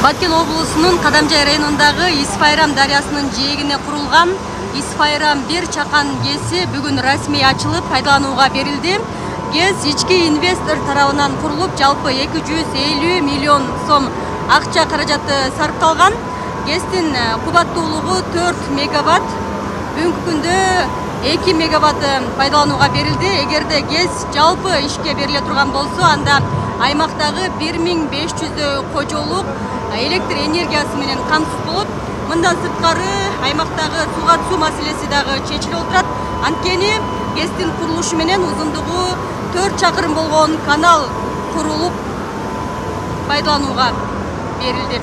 Баткен облусунун Кадамжай районундагы Исфайрам дарыясынын жээгине курулган Исфайрам 1 чакан ГЭСи бүгүн расмий ачылып пайдаланууга берилди. ГЭС ички инвестор тарабынан курулуп, жалпы 250 миллион сом акча каражаты сарпталган. ГЭСтин кубаттуулугу 4 мегаватт. Бүгүнкү күндө 2 мегаватт пайдаланууга берилди. Эгерде ГЭС жалпы ишке бериле турган болсо, анда аймактагы 1500 кожолук электр энергиясы менен камсыз болот. Мындан сырткары аймактагы сууга суу маселеси дагы чечилип отурат. Анткени ГЭСтин курулушу менен узундугу 4 чакырым болгон канал курулуп пайдаланууга берилди.